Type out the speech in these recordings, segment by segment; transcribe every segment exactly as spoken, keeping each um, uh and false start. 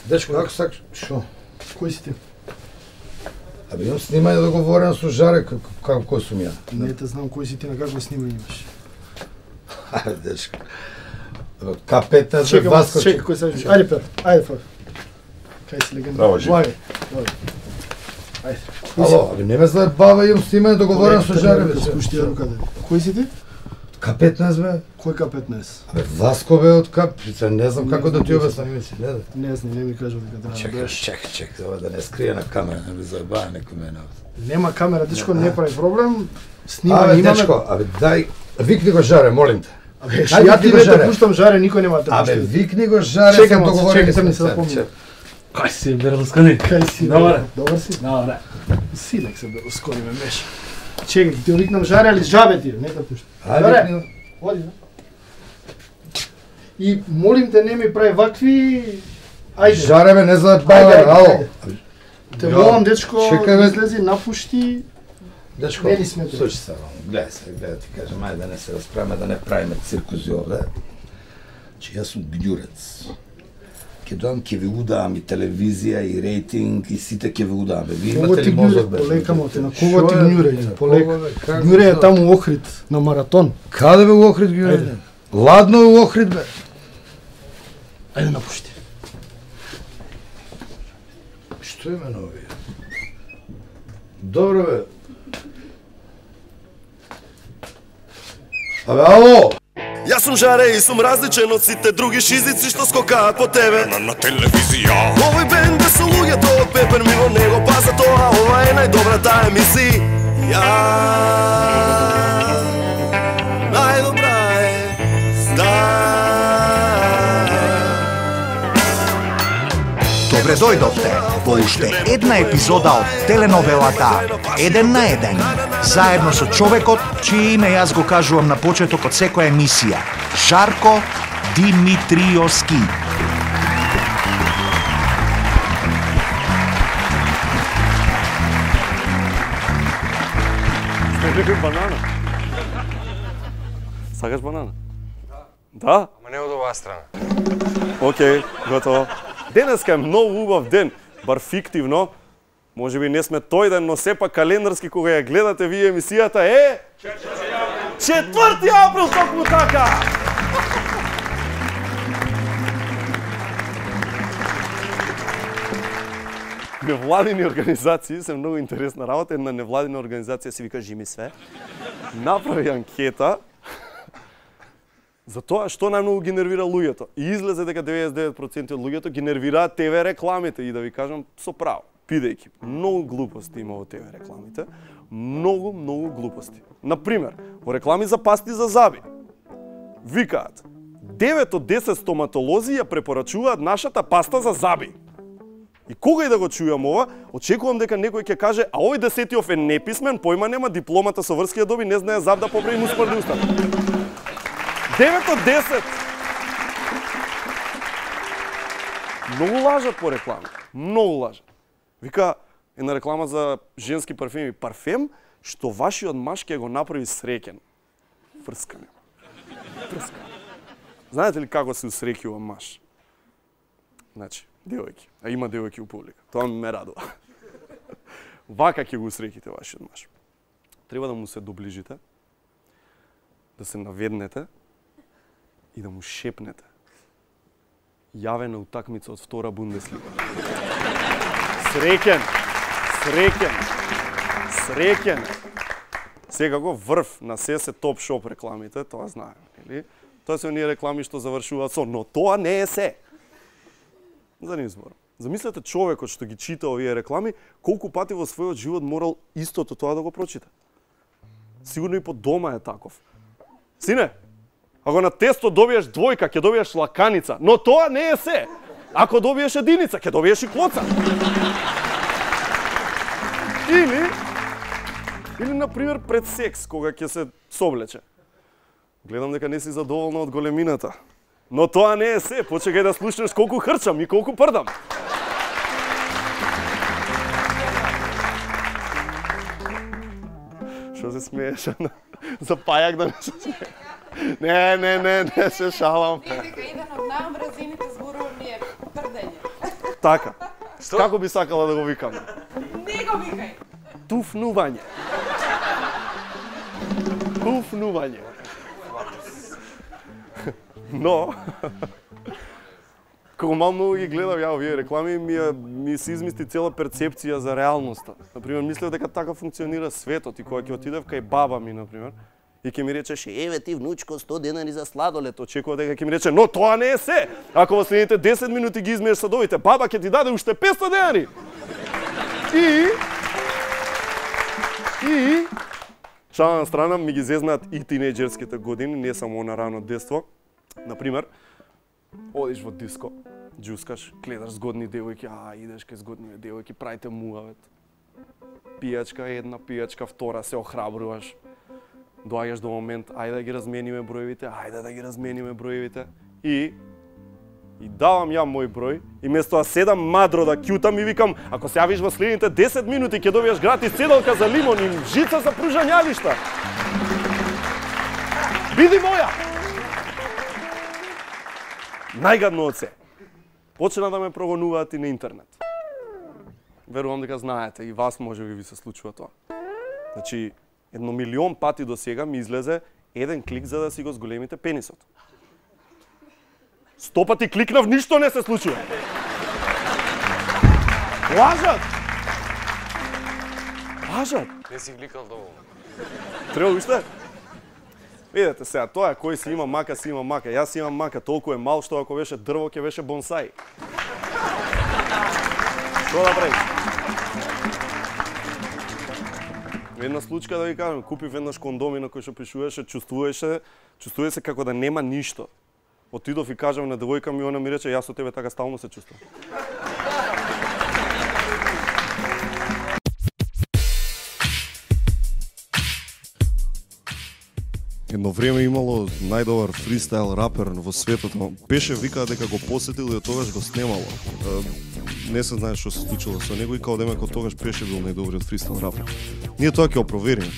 Дечко, како сакаш? Шо? Кој си ти? Абе, имам снимање договорено со Жаре, како кој сум ја? Не те знам кој си ти, на какво снимање имаш. Ајде, дечко. Ка петнаесет, Чекам, Васко. чекай, кој се вижи. Ајде, Пер, ајде, Пер. Кај си легенда? Браво, Жи. Влагај, влагај. Ајде. Ало, абе, не ме знае баба, имам снимање договорено со Жаре, бе. Спушти ја руката. Кој си ти? Ка петнаесет, бе. Кој Ка петнаесет? Абе, Васко, бе, од Ка... Не знам како да ти обяснам име си, не да. Не знам, не ми кажа дека треба да Чекай, беш. чекай, чекай, ова да не скрие на камера, не би заебава некој мене. Нема камера, дечко, не прави проблем. Абе, Снимање имаме. дечко, абе, дај, викни го Жаре, молим те. Абе, Ајде, ја викни ти го не те Жаре. пуштам Жаре, никој нема да те Абе, пушти. викни го Жаре, Чекам, сам се, договорен. чекай, сам не се запомнам. Кај си, Берлускони? Кај си? Добре. Добар си? Добре. Силек се Берлускони ме беше. Чекай, ти викнам Жаре, али жабе ти, не те пушти. Ајде, викни го. Оди, да. И молим те, не ми прави вакви... Ајде. Жаре, бе, не заебава, Ајде, ајде, ало. ајде. Те молам, дечко, Чекај, бе. излези, напушти. Дечко, Не ни сметај. слушай се, гледај се, гледај ти кажам, ајде да не се расправиме, да не правиме циркузи овде. Че јас сум гњурец. Ке доам, ке ви удавам и телевизија, и рейтинг, и сите ке ви удавам. Бе, ви Кого имате ти ли мозок, гњуре? бе? Полекамо те, на кого Шо ти е? гњуре? Полека. Кого, бе? Како Гњуре е тоа? таму у Охрид, на маратон. Каде бе у Охрид гњуре? Ајде. Ладно е у Охрид, бе. Ајде напушти. Што име на овие? Добро, бе. Абе, ало! Јас сум Жаре и сум различен од сите други шизици што скокаат по тебе На, на телевизија. Овој бенд е со луѓето од Пепер мимо него, па за тоа ова е најдобрата емисија. Најдобра е Добре дојдовте во уште една епизода од теленовелата Еден на еден, заедно со човекот чие име јас го кажувам на почеток од секоја емисија, Жарко Димитриовски. Банана. Сакаш банана? Да? Ама не од оваа страна. Океј, готово. Денеска е многу убав ден, бар фиктивно. Може би не сме тој ден, но сепак календарски кога ја гледате вие емисијата е... четврти април, токму така! Невладини организации се многу интересна работа. Една невладина организација се вика Жими све. Направи анкета за тоа што најмногу ги нервира луѓето. И излезе дека деветдесет и девет проценти од луѓето ги нервираат Те ве рекламите. И да ви кажам со право, бидејќи многу глупости има во Те ве рекламите, многу, многу глупости. Например, во реклами за пасти за заби, викаат девет од десет стоматолози ја препорачуваат нашата паста за заби. И кога и да го чујам ова, очекувам дека некој ќе каже, а овој десетиов е неписмен, појма нема, дипломата со врски ја доби, не знае заб да поправи муспарни устата. девет од десет! Многу лажат по реклама. Многу лажат. Вика, една реклама за женски парфеми. Парфем што вашиот маж ќе го направи среќен. Врскане. Врскане. Знаете ли како се усреќува маж? Значи, девојки. А има девојки у публика. Тоа ме радува. Вака ќе го усреќите вашиот маж. Треба да му се доближите, да се наведнете и да му шепнете. Јавена утакмица од втора Бундеслига. Среќен! Среќен! Среќен! Секако врв на се се топ шоп рекламите, тоа знаем, нели? Тоа се оние реклами што завршуваат со, но тоа не е се. За нив зборам. Замислете човекот што ги чита овие реклами, колку пати во својот живот морал истото тоа да го прочита. Сигурно и по дома е таков. Сине, ако на тесто добиеш двојка, ќе добиеш лаканица, но тоа не е се. Ако добиеш единица, ќе добиеш и клоца. Или, или например пред секс, кога ќе се соблече. Гледам дека не си задоволна од големината. Но тоа не е се, почекај да слушнеш колку хрчам и колку прдам. Што се смееш? За пајак да не се смееш? Не, не, не, не се шалам. Дека еден од најомразените зборови ми е прдење. Така. Што? Како би сакала да го викаме? Не го викај. Туфнување. Туфнување. Но, како малку ги гледав ја овие реклами, ми, ми се измисти цела перцепција за реалноста. Например, мислев дека така функционира светот и кога ќе отидев кај баба ми, например, и ќе ми речеше, еве ти внучко сто денари за сладолед, очекува дека ќе ми рече, но тоа не е се. Ако во следните десет минути ги измиеш садовите, баба ќе ти даде уште петстотини денари. И И шала на страна ми ги зезнаат и тинејџерските години, не само на рано детство. Например, одиш во диско, џускаш, гледаш згодни девојки, а идеш кај згодни девојки, правите муавет. Пијачка една, пијачка втора, се охрабруваш. Доаѓаш до момент, ајде да ги размениме броевите, ајде да ги размениме броевите. И И давам ја мој број, и место да седам мадро да кјутам и викам, ако се јавиш во следните десет минути ќе добиеш гратис седалка за лимон и жица за пружањалишта. Биди моја! Најгадно од се. Почна да ме прогонуваат и на интернет. Верувам дека знаете, и вас може би ви се случува тоа. Значи, едно милион пати до сега ми излезе еден клик за да си го зголемите пенисот. Сто пати кликнав, ништо не се случува. Лажат! Лажат! Не си кликал доволно. Треба уште? Видете сега, тоа е кој си има мака, си има мака. Јас си имам мака, толку е мал што ако беше дрво ќе беше бонсај. Што да правиш? Една случка да ви кажам, купив еднаш кондоми на кој што пишуваше, чувствуваше, чувствува се како да нема ништо. Отидов и кажам на девојка ми, она ми рече, јас со тебе така стално се чувствувам. Едно време имало најдобар фристайл рапер во светот, но беше викаа дека го посетил и од тогаш го снемало. Не се знае што се случило со него и као демек од тогаш беше бил најдобриот фристайл рапер. Ние тоа ќе опровериме.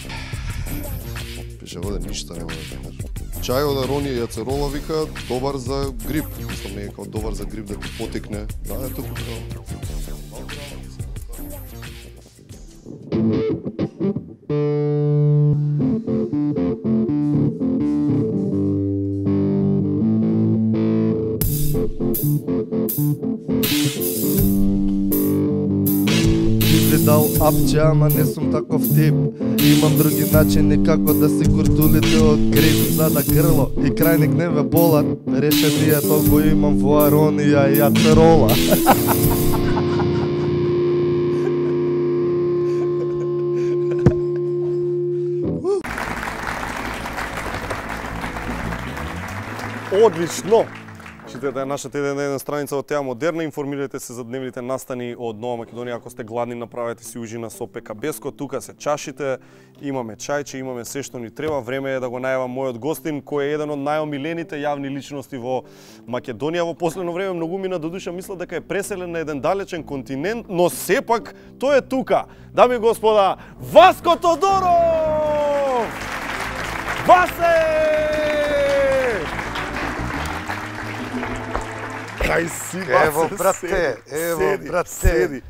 Беше воде ништо нема да кажам. Чај од Арони Јацерола вика добар за грип. Мислам не е као добар за грип да ти потекне. Да, е туку као. Дал апче, ама не сум таков тип. Имам други начини како да си куртулите од грип. За да грло и крајник не ве болат, решение толку имам во Аронија и Јацерола. Одлично! Читате нашата еден на еден страница од Теа Модерна, информирате се за дневните настани од Нова Македонија. Ако сте гладни, направете си ужина со Пека Беско. Тука се чашите, имаме чајче, имаме се што ни треба. Време е да го најавам мојот гостин, кој е еден од најомилените јавни личности во Македонија. Во последно време многу мина до душа мислат дека е преселен на еден далечен континент, но сепак тој е тука. Дами и господа, Васко Тодоров! Васе! Кај си, Ево, брате, ево, брате. Седи.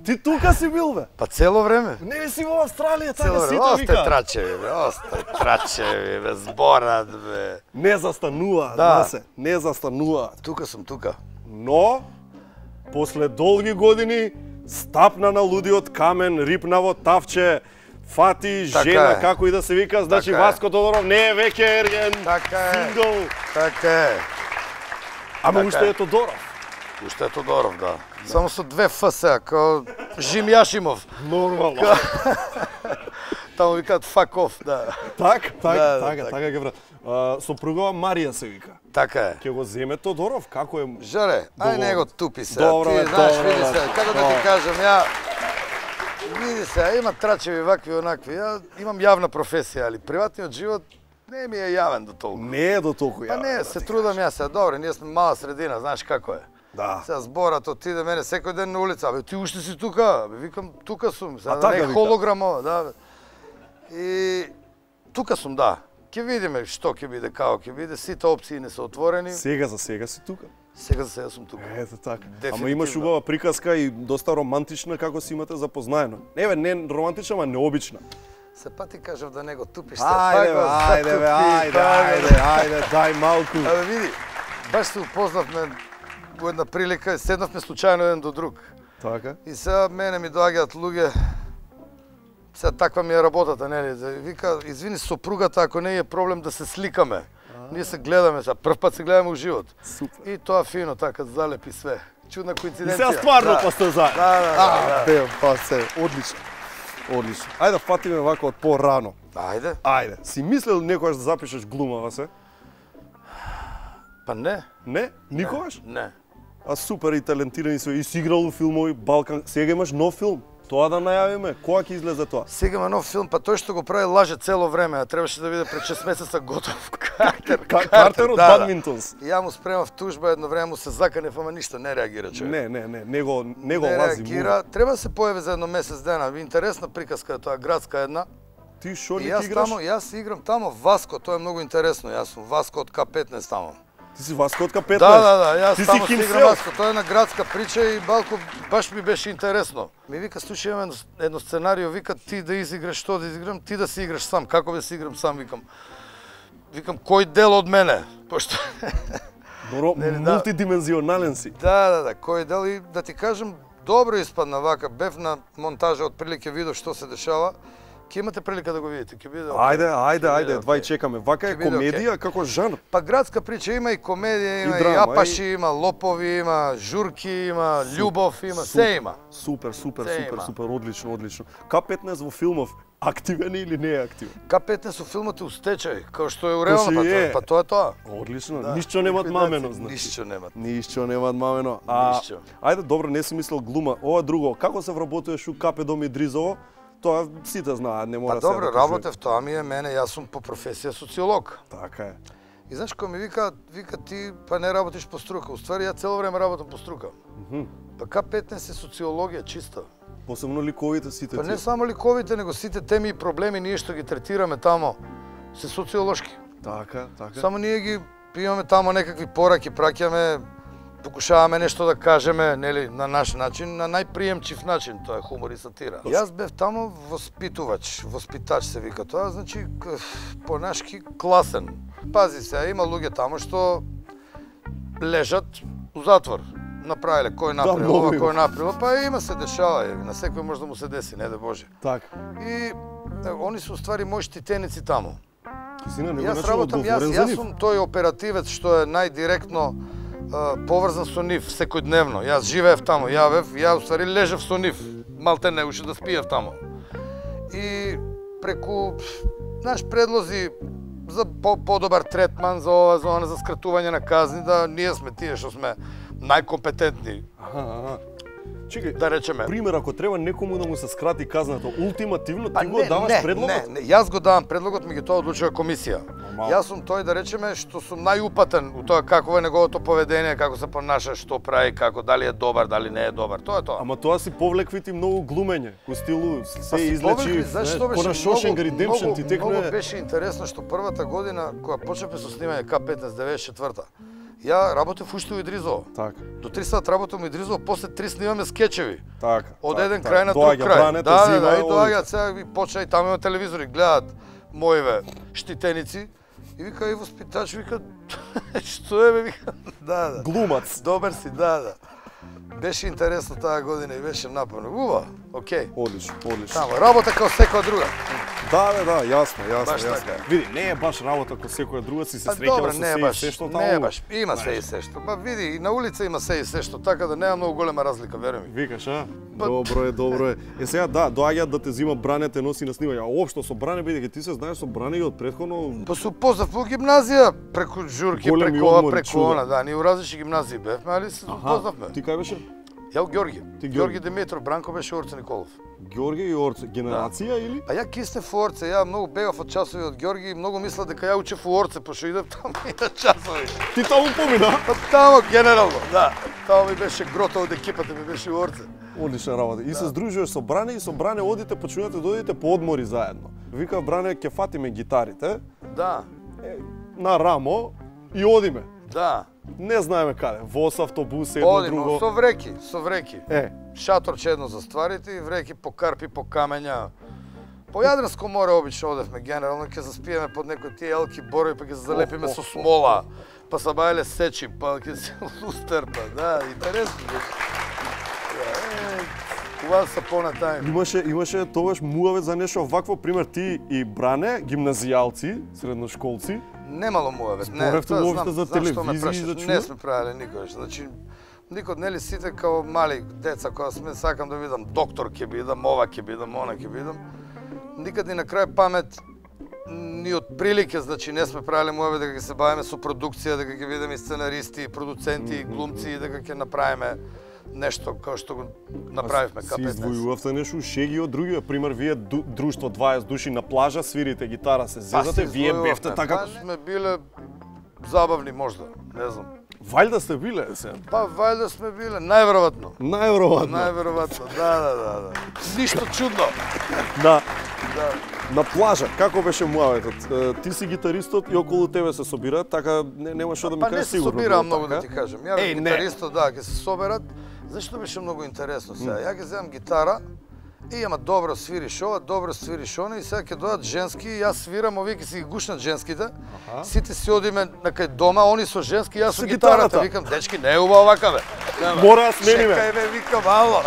Ти тука си бил, бе? Па цело време. Не си во Австралија, така Цело сите време. вика. Осте трачеви, бе, осте трачеви, бе, зборат, бе. Не застануваат, Да. се, не застануваат. Тука сум, тука. Но, после долги години, стапна на лудиот камен, рипна во тавче, фати Така жена, е. како и да се вика, значи Така е. Васко Тодоров не е веќе ерген, Така е. сингл. Така е. Ама Така уште е. е Тодоров. Уште е Тодоров, да. Само со две Ф сега, као Жим Јашимов. Нормално. Таму викаат fuck off, да. Так, так, Да, да, така, така. така ќе врат. Сопругава Марија се вика. Така е. Ќе го земе Тодоров, како е? Жаре, ај Доволно. него тупи се. Добро, Ти бе, знаеш, добро, види бе. се, како да Добро. ти кажам, ја види се, има трачеви вакви онакви. Ја имам јавна професија, али приватниот живот не ми е јавен до толку. Не е до толку Па јавен. не, се трудам јас се, добре, ние сме мала средина, знаеш како е. Да. Сега зборат отиде мене секој ден на улица, абе ти уште си тука, абе викам тука сум, сега А да така не е вика? холограм ова, да. Бе. И тука сум, да. Ќе видиме што ќе биде, како ќе биде, сите опции не се отворени. Сега за сега си тука. Сега за сега сум тука. Ето така. Дефинитивно. Ама имаш убава приказка и доста романтична како си имате запознаено. Не бе, не романтична, ама необична. Се па ти кажав да не го тупиш. Ајде, бе, ајде, бе, ајде, ајде, ајде, дај малку. Абе види, баш се упознавме во една прилика, седнавме случајно еден до друг. Така. И сега мене ми доаѓаат луѓе, сега таква ми е работата, нели? Вика, извини сопругата, ако не е проблем да се сликаме. Ние се гледаме, сега прв пат се гледаме у живот. Супер. И тоа фино така залепи све. Чудна коинциденција. И сега стварно да. па сте заедно. Да, да, да. А, бе, па се, одлично. Одлично. Ајде да фатиме вака од порано. Ајде. Ајде. Си мислел некогаш да запишеш глумава се? Па не. Не? Никогаш? Не. А супер и талентирани си, и си играл у филмови Балкан. Сега имаш нов филм. Тоа да најавиме. Кога ќе излезе тоа? Сега има нов филм, па тој што го прави лаже цело време, а требаше да биде пред шест месеца готов. Картер, Картер од да, Бадминтонс. Да. Ја му спремав тужба, едно време му се заканев, ама ништо не реагира човек. Не, не, не, него него не лази. реагира. Треба да се појави за едно месец дена. Интересна приказка е тоа, градска една. Ти шо ли И јас ти играш? тамо, јас играм тамо Васко, тоа е многу интересно. Јас сум Васко од К петнаесет тамо. Ти си Васко од К петнаесет? Да, да, да, јас Ти си тамо си Химсел? играм Васко. Тоа е една градска прича и балко баш ми беше интересно. Ми вика, слушај, имам едно, едно сценарио, вика ти да изиграш, што да изиграм, ти да си играш сам. Како да си играм сам, викам. Викам, кој дел од мене? Пошто Добро, Нели, да. мултидимензионален си. Да, да, да, кој дел и да ти кажем, добро испадна вака, бев на монтажа, отприлике видов што се дешава. Ќе имате прилика да го видите, ќе биде. Ајде, ајде, Ќе ајде, биде двај окей. чекаме. Вака е Ќе биде комедија како жанр. Па градска прича има и комедија, има И и, драма, апаши, и- има лопови, има журки, има љубов, има, се има. Супер, супер, Се супер, има. супер, одлично, одлично. К петнаесет во филмов активен е или не е активен? К петнаесет со филмот е у стечај, као што е у Кој си реално, па, е? тоа- па тоа е тоа. Одлично, Да. ништо немат мамено, Ликвидација, значи. Ништо немат. Ништо немат мамено. А, Ништо. ајде, добро, не си мислел глума. Ова друго, како се вработуваш у Капе Дом Идризово? Тоа сите знаат, не Па мора сега добро, да кажувам. работев, тоа ми е мене, јас сум по професија социолог. Така е. И знаеш кој ми вика, вика ти па не работиш по струка. Уствари ја цело време работам по струка. Па К петнаесет е социологија чиста. Посебно ликовите сите Па не тие. само ликовите, него сите теми и проблеми ние што ги третираме тамо се социолошки. Така, така. Само ние ги имаме тамо некакви пораки, праќаме, покушаваме нешто да кажеме, нели, на наш начин, на најприемчив начин, тоа е хумор и сатира. Јас бев тамо воспитувач, воспитач се вика тоа, значи к- понашки класен. Пази се, има луѓе тамо што лежат у затвор. Направиле кој направил, многу ова има. кој направил, па има се дешава, е, на секој може да му се деси, не да Боже. Така. И е, они се уствари мои штитеници тамо. Сина, не го Јас наче работам, јас, одговорен за јас нив. сум тој оперативец што е најдиректно а, поврзан со нив секојдневно. Јас живеев тамо, ја бев, ја уствари лежев со нив, малте не уште да спиев тамо. И преку, знаеш, предлози за по подобар третман, за ова, за она, за скратување на казни, да ние сме тие што сме најкомпетентни, Аха, аха. Чекај, да речеме. пример, ако треба некому да му се скрати казната, ултимативно Па ти го даваш не, предлогот? Не, не, јас го давам предлогот, ми ги тоа одлучува комисија. Нормално. Јас сум тој да речеме што сум најупатен у тоа какво е неговото поведение, како се понаша, што прави, како дали е добар, дали не е добар. Тоа е тоа. Ама тоа си повлекви ти многу глумење, у стилу се Па си излечи, повлекли, знаеш што беше кона Шошенк Редемпшн многу, ти текно многу е... беше интересно што првата година кога почнавме со снимање К петнаесет деветдесет и четврта. Ја работев уште у Идризово. Така, До три сат работам у Идризово, после три снимаме скечеви. така. Од така, еден така. крај на друг Доаѓа крај. Брането, Да, да, зима, да, и оди. доаѓаат сега и почна и таму има телевизори, гледаат моиве штитеници и вика и воспитач вика што е бе вика. Да, да. Глумац. Добар си, да, да. Беше интересно таа година и беше напорно. Ува, окей. Одлично, одлично. Тамо работа како секоја друга. Да, да, да, јасно, јасно, Баш јасно. така. Види, не е баш работа како секоја друга, си се Па среќава добро, со не се е и баш, се што таму. не е баш, има се и се што. Па види, и на улица има се и се што, така да нема многу голема разлика, веруј ми. Викаш, а? Па- Добро е, добро е. Е сега да, доаѓаат да те зима Бране, те носи на снимање. А општо со Бране бидејќи ти се знаеш со Бране и од претходно Па се упознав во гимназија, преку журки, Големи преку ова, одмори, преку чуда. она, да, ние у различни гимназии бевме, али се упознавме. Ти кај беше? Ја у Ѓорги. Ти Ѓорги. Ѓорги Димитров, Бранко беше Орце Николов. Ѓорги и Орце, генерација или? А ја киснев у Орце, ја многу бегав од часови од Ѓорги и многу мисла дека ја учев у Орце, пошто идев таму и на часови. Ти таму помина? Па тамо генерално, да. Тамо ми беше грото од екипата, ми беше у Орце. Одлична работа. И се здружуваш со Бране и со Бране одите, почнувате да одите по одмори заедно. Вика Бране, ќе фатиме гитарите Да, на рамо и одиме. да. Не знаеме каде, во автобус, едно Одимо, друго. со вреки, со вреки. Е, Шаторче едно за стварите и вреки по карпи, по камења. По Јадранско море обично одевме генерално, ќе заспиеме под некои тие елки борови, па ќе залепиме со смола, па са бајле сечи, па ќе се лустер, па да, интересно. Кога са понатајм. имаше имаше тогаш муавет за нешто вакво, пример ти и Бране, гимназијалци, средношколци. Немало муавет, не, Зборевте тоа уопште знам, за знам што ме телевизија и прашаш. за Не чуда? сме правеле никогаш, значи никод, нели сите као мали деца кога сме сакам да видам доктор ќе бидам, ова ќе бидам, она ќе бидам. Никад ни на крај памет ни од прилике, значи не сме правеле муавет дека ќе се бавиме со продукција, дека ќе видиме и сценаристи, продуценти, глумци, дека ќе направиме нешто како што го направивме Си К петнаесет. издвојувавте нешто шеги од други, пример вие ду, друштво дваесет души на плажа, свирите гитара, се зезате, вие бевте така. Па сме биле забавни можда, не знам. Вајда сте биле се. Па вајда сме биле, најверојатно. Најверојатно. Најверојатно, да, да, да, да. Ништо чудно. Да. Да. На плажа, како беше муаветот? Е, Ти си гитаристот и околу тебе се собираат, така не, нема што да ми Па не кажеш се сигурно. собираа било многу да така? ти кажам. Ја Еј, не. гитаристот, да, ќе се соберат. Зашто беше многу интересно сега? Ја ќе земам гитара и ама добро свириш ова, добро свириш она и сега ќе дојдат женски и јас свирам, овие ќе си ги гушнат женските. Сите си одиме на кај дома, они со женски, јас со Со гитарата. гитарата. Викам, дечки, не е убаво вака бе. Нема. Мора да смениме. Чекај бе, викам, ало.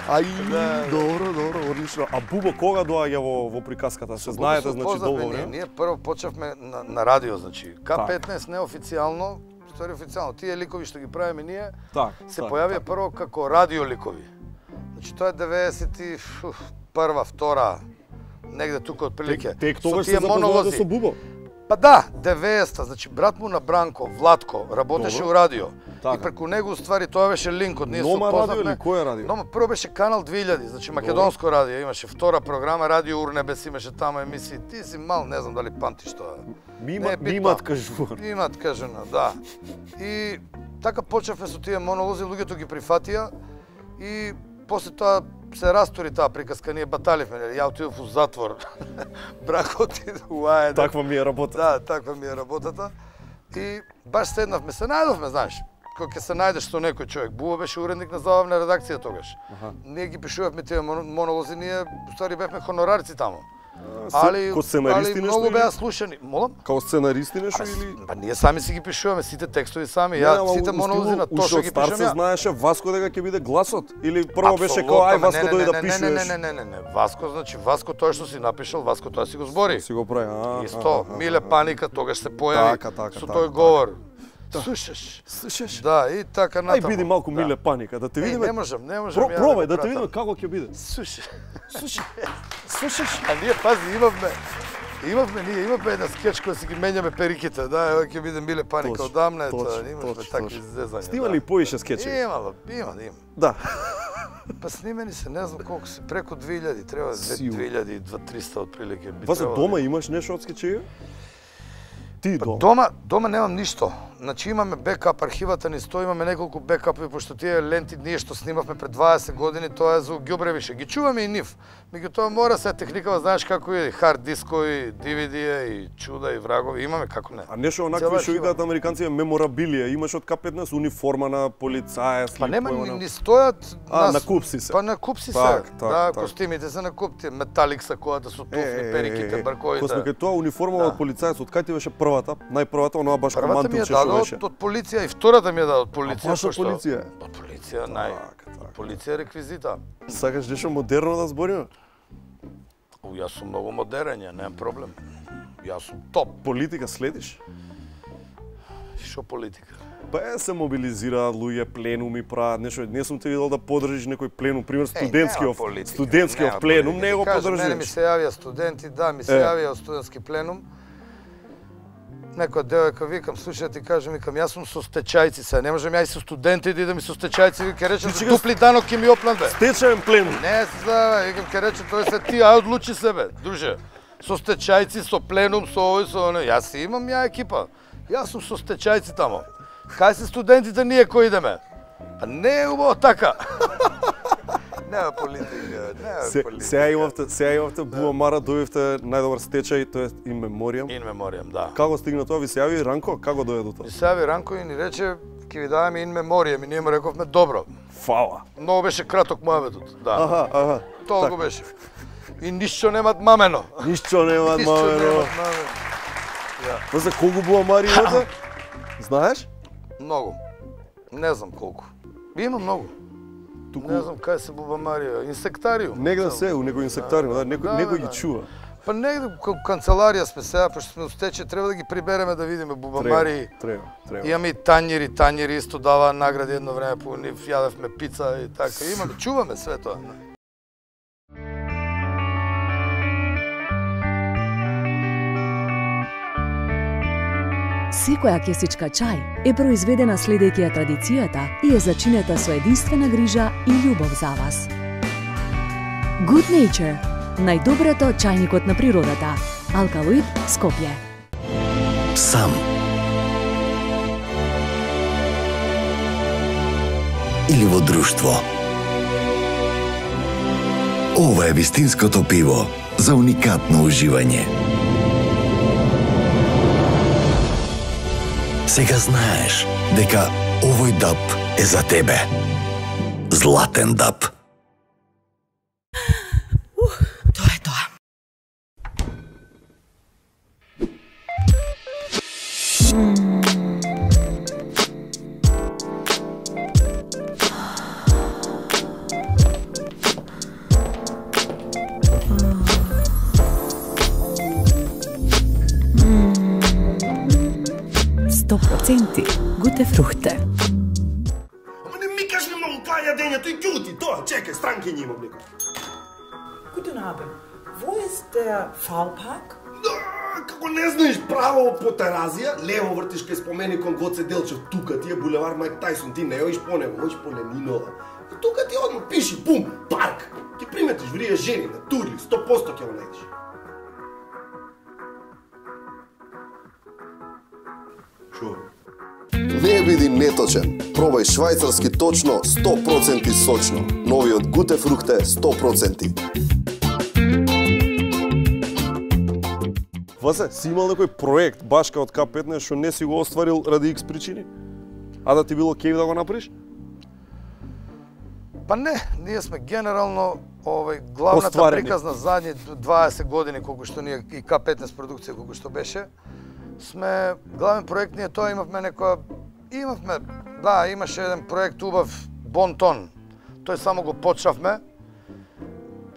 Ај, Да. добро, добро, одлично. А Бубо кога доаѓа во во приказката? Се знаете, значи Познавме долго ние. време. Ние прво почнавме на, на радио, значи. К Так. петнаесет неофицијално, ствари официјално, тие ликови што ги правиме ние, Так, се так, појавија так. прво како радио ликови. Значи тоа е деветдесет и прва, втора, негде тука отприлике. Тек Со тогаш тие се запознавате монолози. со Бубо. Па да, деветдесета, значи брат му на Бранко, Владко, работеше Добро. у радио. Така. И преку него уствари тоа беше линкот. Ние Нома се радио познавме. или кој е радио? Нома прво беше канал две илјади, значи македонско радио, имаше втора програма, Радио Урнебес имаше таму емисии. Ти си мал, не знам дали памтиш тоа. Ми Не има е битно. ми имат кажувар. Имат кажано, да. И така почнавме со тие монолози, луѓето ги прифатија и после тоа се растори таа приказка, ние баталивме, нели? Ја отидов у затвор. Брако отиде у Аеда. Таква ми е работа. Да, таква ми е работата. И баш седнавме, се најдовме, знаеш, кога ќе се најдеш со некој човек. Бубо беше уредник на забавна редакција тогаш. Аха. Ние ги пишувавме тие мон- монолози, ние устари бевме хонорарци таму. се- Али, ко сценаристи али нешто многу или- беа слушани. Молам? Као сценаристи нешто Па, или па ние сами си ги пишуваме, сите текстови сами. Не, Ја ама сите у монолози стилу, на уште Тошо од ги старт пишувам се ја. знаеше Васко дека ќе биде гласот или прво беше Апсолутно, као ај ме, Васко не, дојде не, да не, пишеш. Не, не, не, не, не, не, Васко, значи Васко тоа што си напишал, Васко тоа си го збори. Си го прави. а, Исто, а, а, Миле а. Паника тогаш се појави Така, така, со така, тој така. говор. Слушаш? Слушаш? Да, и така Ај натаму. биди малку Да. Миле Паника, да те Еј, видиме. не можам, не можам. Про, ја пробај го да те пратам. видиме како ќе биде. Слушаш. Слушаш. Слушаш. А ние пази имавме Имавме ние, имавме една скеч која си ги менјаме периките, да, ева ќе биде Миле Паника Точно, одамна, ето, точно, имавме точно, такви точно. зезања. Снима да. ли поише скечеви? Имало, има, има. Да. Па снимени се, не знам колку се, преку две илјади, треба Сигурно. две илјади, две триста отприлике би Васе требало. дома имаш нешто од скечеви? Ти дома. Дома, дома немам ништо. Значи имаме бекап, архивата ни стои, имаме неколку бекапи, пошто тие ленти ние што снимавме пред дваесет години, тоа е за ѓубревише. Ги чуваме и нив. Меѓутоа мора се техникава, знаеш како е, хард дискови, ди ви ди и чуда и врагови, имаме како не. А нешто Цела онакви што архива. викаат американци е меморабилија, имаш од К петнаесет униформа на полицаец, Па нема, појма ни, на- ни стојат А, на куп си се. Па на куп си се. Так, так, да, так. костимите се на куп, тие металик са којата со туфли, периките, бркоите. Кога сме кај тоа униформа Да. од полицаец, од кај ти беше првата? Најпрвата, онаа баш Првата ми ја командилче даде што од, беше. од полиција и втората ми ја даде од полиција. баш од пошто- полиција? Од полиција, нај. Така, така. Полиција реквизита. Сакаш нешто модерно да збориме? У, јас сум многу модерен, ја немам проблем. Јас сум топ. Политика следиш? Шо политика? Па е, се мобилизираат луѓе, пленуми прават, нешто. Не сум те видел да подржиш некој пленум, пример Еј, студентскиов, нема политика, студентскиов нема пленум, политика. не го Кажам, Мене ми подржиш. се јавија студенти, да, ми се Е. јавија студентски пленум. Некоја девојка викам, слушај ти кажам, викам, јас сум со стечајци се, не можам ја и со студенти да идам и со стечајци, вика речем, Значи, дупли данок ќе ми опнат бе. Стечаен пленум. Не се знае, викам, ке рече, тој се ти, ај одлучи себе, друже. Со стечајци, со пленум, со овој, со оној. Јас си имам ја екипа. Јас сум со стечајци тамо. Кај се студентите ние кои идеме? А не е убаво така. нема политика, нема Се, политика. сега имавте, сега имавте Буамара, дојдовте најдобар стечај, тоа е in memoriam. In memoriam, да. Како стигна тоа? Ви се јави Ранко? Како дојде до тоа? И се јави Ранко и ни рече, ќе ви даваме in memoriam, и ние му рековме добро. Фала. Многу беше краток мојаветот, да. Аха, аха. Толку беше. И ништо немат мамено. Ништо немат Ништо мамено. немат мамено. Ја. Па за колку Буамари имате? Знаеш? Многу. Не знам колку. Има многу. Туку... Не знам кај се Бубамарија. Инсектариум. Негде се, у некој инсектариум, да, некој, Да, некој да. ги чува. Па негде кај канцеларија сме сега, пошто сме устече, треба да ги прибереме да видиме Бубамари. Треба, треба. Имаме и Тањери, Тањери исто дава награди едно време по нив, јадевме пица и така. Имаме, чуваме све тоа. Секоја кесичка чај е произведена следејќи ја традицијата и е зачинета со единствена грижа и љубов за вас. Good Nature, најдоброто чајникот на природата. Алкалоид, Скопје. Сам. Или во друштво. Ова е вистинското пиво за уникатно уживање. Сега знаеш дека овој даб е за тебе. Златен даб. Ух, тоа е тоа. сто проценти гуте фрухте. Ама не ми кажи многу кај јадењето и ќути, тоа, чекај, странки имам некој. Guten Abend. Wo ist der V-Park? Како не знаеш право по Теразија, лево вртиш кај споменикон Гоце Делчев, тука ти е булевар Майк Тајсон, ти не оиш по него, оиш по Ленинова. И тука ти одма пиши, пум, парк. Ти приметиш врија жени на турли, сто проценти ќе го најдеш. Шо? Не биди неточен. Пробај швајцарски точно сто проценти сочно. Новиот Гуте фрухте сто проценти. Васе, си имал некој проект башка од К петнаесет што не си го остварил ради икс причини? А да ти било кеј да го направиш? Па не, ние сме генерално овај главната Остварени. приказна задни дваесет години колку што ние и К петнаесет продукција колку што беше, сме главен проект ние тоа имавме некоја имавме да, имаше еден проект убав Бонтон. Тој само го почнавме.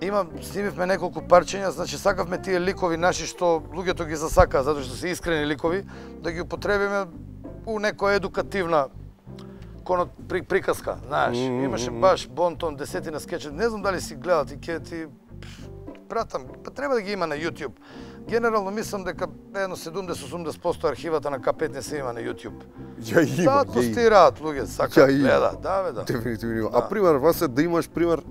Има снимивме неколку парчиња, значи сакавме тие ликови наши што луѓето ги засакаа затоа што се искрени ликови, да ги употребиме у некоја едукативна конот при, приказка, знаеш. Mm, mm, Имаше mm. баш Бонтон, десетина скечи. Не знам дали си гледал, ти ќе ти пратам, па треба да ги има на YouTube. Генерално мислам дека едно седумдесет до осумдесет проценти архивата на К петнаесет има на YouTube. Ја има, Да, ја постираат луѓе, сакаат, Ја има. гледа, да бе, да. Дефинитивно има. Да. А пример, Васе, да имаш пример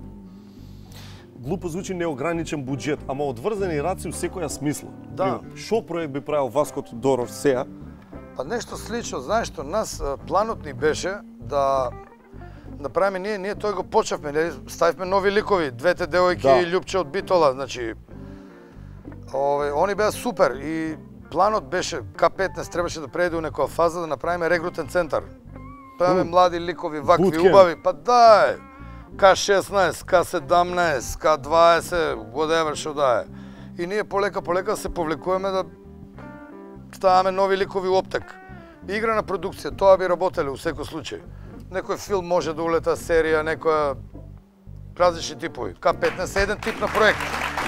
глупо звучи неограничен буџет, ама одврзани раци у секоја смисла. Да. Пример, шо проект би правил Васко Тодоров сега? Па нешто слично, знаеш што, нас а, планот ни беше да направиме ние, ние тој го почнавме, нели, ставивме нови ликови, двете девојки Да. и Љупче од Битола, значи ове, они беа супер и планот беше К петнаесет требаше да преде у некоја фаза да направиме регрутен центар. Па имаме М. млади ликови, вакви, Bootcamp. убави, па да е. К шеснаесет, К седамнаесет, К дваесет, whatever што да е. И ние полека полека се повлекуваме да ставаме нови ликови оптек. Игра на продукција, тоа би работеле у секој случај. Некој филм може да улета, серија, некоја различни типови. К петнаесет е еден тип на проект.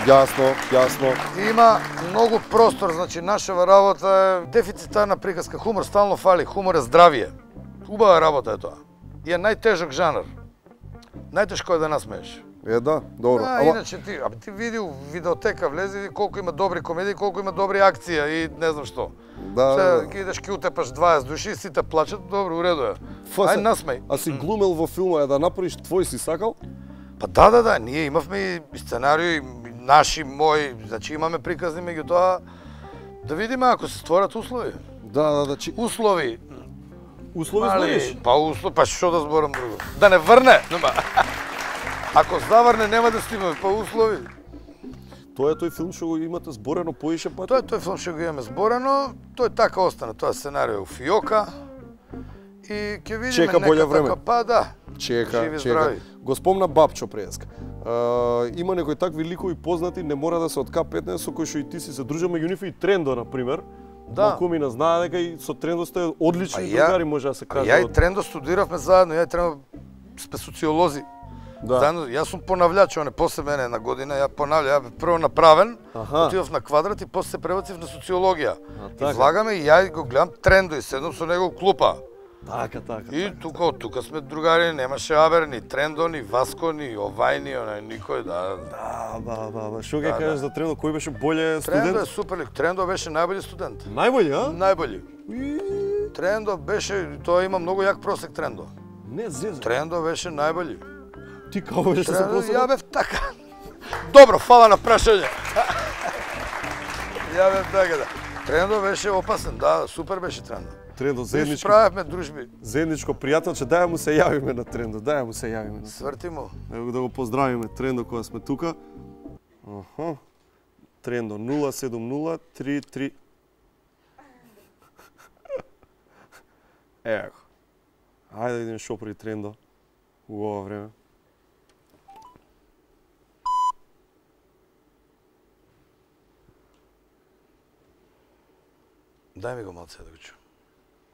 Јасно, јасно. Има многу простор, значи нашава работа е дефицитарна приказка, хумор стално фали, хумор е здравие. Убава работа е тоа. И е најтежок жанр. Најтешко е да насмееш. Е, да, добро. А, Ама, иначе ти, а ти види у видеотека, влези и колку има добри комедии, колку има добри акција и не знам што. да, Се, да. ги идеш ки утепаш дваесет души, сите плачат, добро, уредо е. Фасе, Ај насмеј. А си глумел во филма е да направиш твој си сакал? Па да, да, да, ние имавме и сценарио, и наши, мои, значи имаме приказни, меѓутоа да видиме ако се створат услови. Да, да, да, чи... Услови. Услови Мали, збориш? Па услови, па што да зборам друго? Да не врне. Нема. Ако заврне, нема да снимаме по услови. Тоа е тој филм што го имате зборено поише пати? Тоа е тој филм што го имаме зборено, тој така остана, тоа сценарио у фиока. И ќе видиме Чека боле време. Така, па да. Чека, живи, чека. здрави. Го спомна Бабчо преска. Uh, има некои такви ликови познати, не мора да се од К петнаесет со кои што и ти си се дружил, меѓу нив и Трендо на пример. Да. Малкумина знае дека и со Трендо сте одлични А ја- другари, може да се каже. Ја и Трендо студиравме заедно, ја и Трендо спе социолози. Да. Заедно, јас сум понављач, он е после мене една година, ја понавља, ја бев прво направен, Аха. отидов на квадрат и после се пребацив на социологија. А, И така. влагаме и ја го гледам Трендо и седам со него у клупа. Така, така. И тука, од тука сме другари, немаше Абер, ни Трендо, ни Васко, ни Овај, ни онај, никој, да. Да, да, да, да. Што ќе Да, кажеш да. за Трендо, кој беше боле Трендо е студент? супер лик, Трендо беше најбољи студент. Најбољи, а? Најбољи. Трендо беше, тоа има многу јак просек Трендо. Не, зеза. Трендо беше најбољи. Ти како беше со Трендо, просекот? ја бев така. Добро, фала на прашање. Ја бев така, да. Трендо беше опасен, да, супер беше Трендо. Трендо, Ми заедничко. справевме дружби. Заедничко пријателче, дај му се јавиме на Трендо, дај му се јавиме. На... Сврти му. Ево да го поздравиме Трендо кога сме тука. Аха. Трендо нула седум нула три три. Ево. Ајде да видиме шо при Трендо у ова време. Дај ми го малце да го чуам.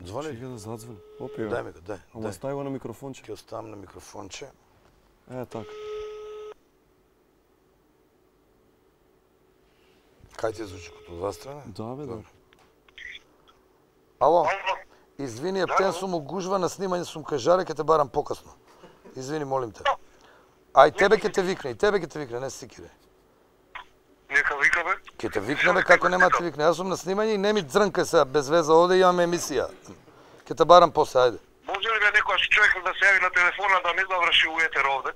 Звони ли? Чека да задзвони. Опи, Дај ми го, дај. Ама дај. стави го на микрофонче. Ќе оставам на микрофонче. Е, така. Кај ти звучи, като од вас страна? Да, бе, да. Ало? Извини, ептен сум угужва на снимање, сум кажаре, ќе те барам покасно. Извини, молим те. А и тебе ќе те викне, и тебе ќе те викне, не се сикире. Нека викаме. Ќе те викнеме како нема да те викне. Јас сум на снимање и не ми дрнка сега без веза, овде имаме емисија. Ќе те барам после, ајде. Може ли бе некојаш човек да се јави на телефона да не заврши у етер овде?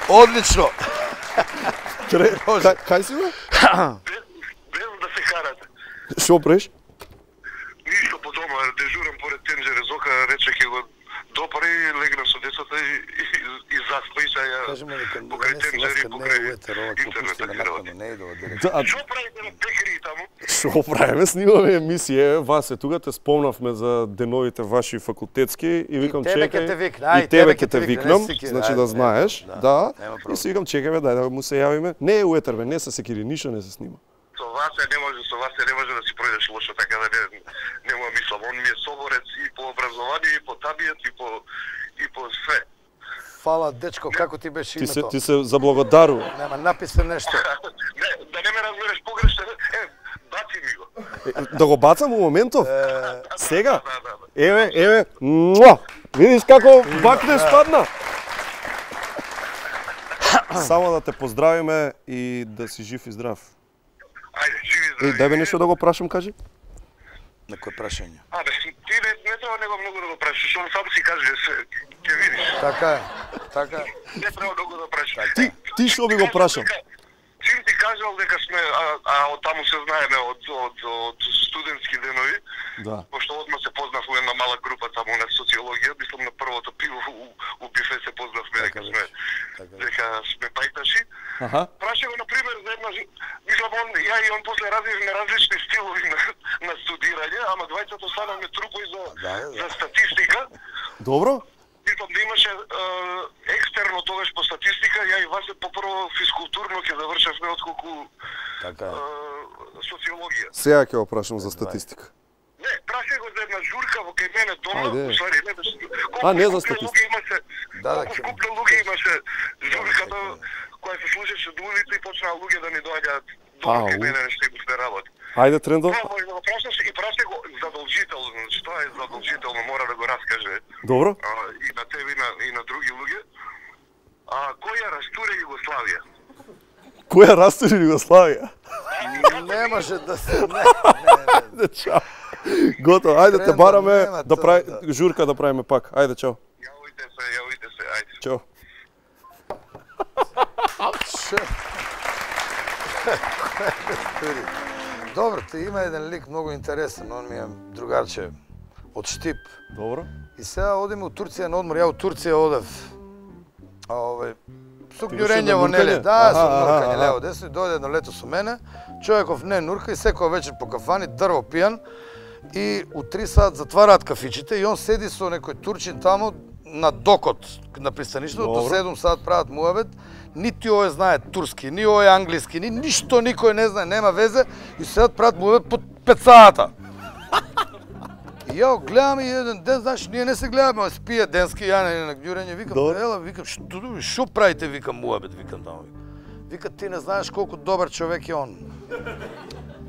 Одлично. Тре... Кај, кај си бе? Без да се карате. Шо преш? Ништо по дома, дежурам поред тенџере, Зока рече ќе го допари, легна со децата и, и, и заспа и сега Кажеме дека покрај не се тенџери, ласка, не покрај е уетер, ова ќе пустиме накаде, не иде ова директно. Да, Шо правите на пекари таму? Шо правиме? Снимаме емисија. Васе, тука те спомнавме за деновите ваши факултетски и викам И тебе чекај. ќе те викна, ај, И тебе тебе ќе те викна, викнам, не се секири, значи ајде, да не, знаеш. да, Да. нема И проблем. си викам чекај бе, дај да му се јавиме. Не е уетер бе, не се секири, ништо не се снима. Со вас не може, со вас не може да си пројдеш лошо, така да не, нема мислам. Он ми е соборец и по образование, и по табијат, и по, и по све. Фала, дечко, како ти беше Ти се името? ти се заблагодарува. Нема, написи нешто. Не, да не ме разбереш погрешно, е, баци ми го. Е, Да го бацам у моментов? Сега? Еве, еве. Муа! Видиш како бакнеш падна? Само да те поздравиме и да си жив и здрав. Ајде, живи Е, дај бе нешто да го прашам, кажи. На кој прашање? Абе, ти не, не треба него многу да го прашаш, он сам си каже, се, ќе видиш. Така е, така е. Не треба многу да прашаш. Ти, ти што би го прашал? Сим ти кажал дека сме, а, а од таму се знаеме од, од, од студентски денови, Да. пошто одма се познав у една мала група таму на социологија, мислам на првото пиво у, у бифе се познавме дека сме, дека сме пајташи. Аха. Праша го, например, за една, мислам, он, ја и он после развивме различни стилови на, на студирање, ама двајцата станавме трупои за, за статистика. Добро? Мислам да имаше е, екстерно тогаш по статистика, ја и вас по прво физкултурно ќе завршевме отколку така е, социологија. Сега ќе го прашам за статистика. Не, праша го за една журка во кај мене дома, Ајде. усвари, не беше. А, не за скупни статистика. луѓе имаше, Да, да, колку ќе- скупни луѓе имаше журката која се слушаше до улица и почнаа луѓе да ни доаѓаат дома Ау. кај мене нешто и се работи. Ајде, Трендо. Това може да го прашаш и праша го задолжително, значи тоа е задолжително, мора да го раскаже. Добро? А, и на тебе и на, и на други луѓе. А кој ја растуре Југославија? Која растури Југославија? Не може да се... Не, Ајде, чао. Готово, ајде те Трендо, бараме нема да тоа, прави да. журка да правиме пак. Ајде, чао. Јавите се, јавите се, ајде. Чао. Добро, ти има еден лик многу интересен, он ми е другарче од Штип. Добро. И сега одиме у Турција на одмор, ја у Турција одев. А овој со ѓурењево нели, да, со нуркање лево десно, дојде едно лето со мене, човеков не нурка и секоја вечер по кафани дрво пијан и у три саат затвараат кафичите и он седи со некој турчин тамо на докот на пристаништето, до седум саат прават муабет, нити овој знае турски, ни овој англиски, ни ништо никој не знае, нема везе и седат прават муабет по пет саата. И ја гледам и еден ден, знаеш, ние не се гледаме, спие денски, ја не на ѓурење, викам, ела, викам, што, што правите, викам, муабет, викам тамо. Вика, ти не знаеш колку добар човек е он.